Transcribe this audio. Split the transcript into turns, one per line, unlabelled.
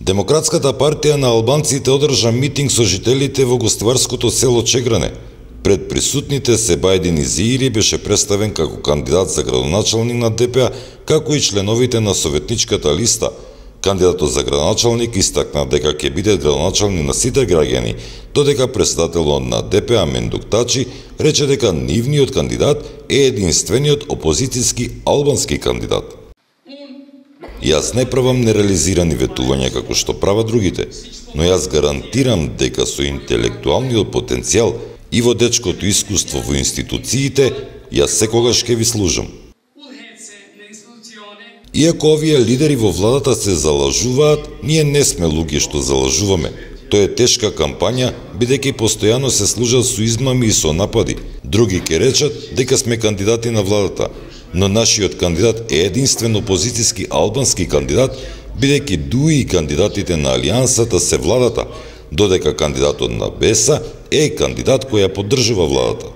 Демократската партија на албанците одржа митинг со жителите во гостоварското село Чегране. Пред присутните Себајдин Изири беше представен како кандидат за градоначалник на ДПА, како и членовите на советничката листа. Кандидатот за градоначалник истакна дека ќе биде градоначалник на сите граѓани, додека председателот на ДПА Мендук Тачи рече дека нивниот кандидат е единствениот опозицијски албански кандидат. Јас не правам нереализирани ветувања како што прават другите, но јас гарантирам дека со интелектуалниот потенцијал и водечкото искуство во институциите, јас секогаш ќе ви служам. Иако овие лидери во владата се залажуваат, ние не сме луѓе што залажуваме. Тоа е тешка кампања, бидејќи постојано се служат со измами и со напади. Други ќе речат дека сме кандидати на владата, но нашиот кандидат е единствен опозицијски албански кандидат, бидејќи дуи и кандидатите на Алијансата се владата, додека кандидатот на БЕСА е кандидат кој ја поддржува владата.